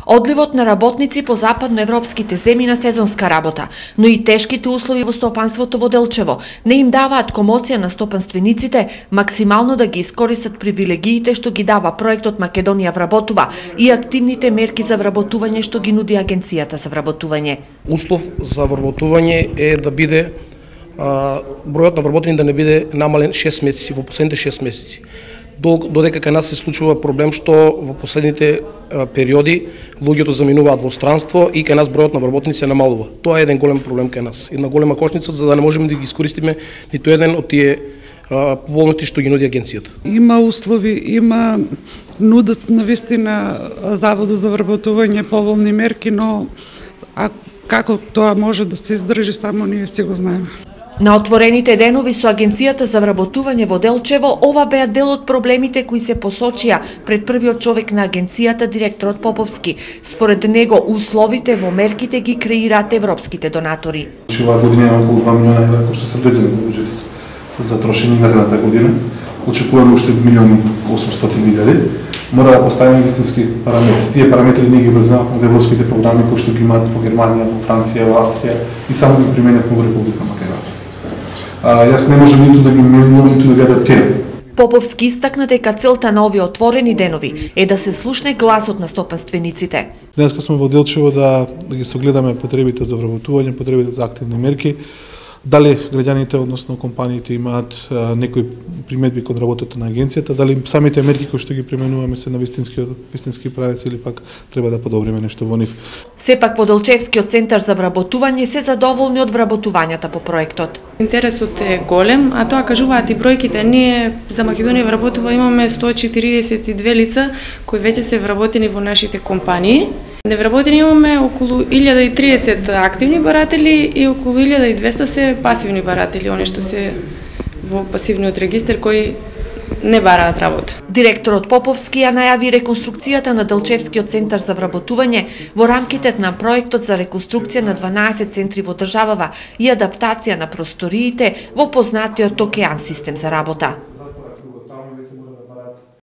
Одливот на работници по западноевропските земји на сезонска работа, но и тешките услови во стопанството во Делчево не им даваат комоција на стопанствениците максимално да ги искористат привилегиите што ги дава проектот Македонија вработува и активните мерки за вработување што ги нуди Агенцијата за вработување. Услов за вработување е да биде бројот на вработени да не биде намален 6 месеци во последните 6 месеци. Додека кај нас се случува проблем што во последните периоди луѓето заминуваат во странство и кај нас бројот на вработени се намалува. Тоа е еден голем проблем кај нас. Една голема кошница за да не можеме да ги искористиме ниту еден од тие поволности што ги нуди агенцијата. Има услови, има нудат навистина Заводот за вработување поволни мерки, но како тоа може да се издржи, само ние си го знаеме. На отворените денови со Агенцијата за вработување во Делчево, ова беа дел од проблемите кои се посочија пред првиот човек на агенцијата, директорот Поповски. Според него, условите во мерките ги креираат европските донатори. Оваа година е околу 2 милиона евра кои што се влезени во буџетот за трошење наредната година. Очекуваме уште 1.800.000. Мора да поставиме вистински параметри. Тие параметри ние ги врзаваме од европските програми кои што ги имаат во Германија, во Франција, во Австрија и само ги применуваме во Република Македонија. Јас не можам ниту да ги менувам, ниту да ги адаптирам. Поповски истакна дека целта на овие отворени денови е да се слушне гласот на стопанствениците. Денеска сме во Делчево да ги согледаме потребите за вработување, потребите за активни мерки. Дали граѓаните, односно компаниите, имаат некои приметби кон работата на агенцијата, дали самите мерки кои што ги применуваме се на вистински правец или пак треба да подобриме нешто во нив. Сепак во Делчевскиот центар за вработување се задоволни од вработувањата по проектот. Интересот е голем, а тоа кажуваат и бројките. Ние за Македонија вработува имаме 142 лица кои веќе се вработени во нашите компании. Невработени имаме околу 1030 активни баратели и околу 1200 се пасивни баратели, оние што се во пасивниот регистар кои не бараат работа. Директорот Поповски ја најави реконструкцијата на Делчевскиот центар за вработување во рамките на проектот за реконструкција на 12 центри во државава и адаптација на просториите во познатиот Океан систем за работа.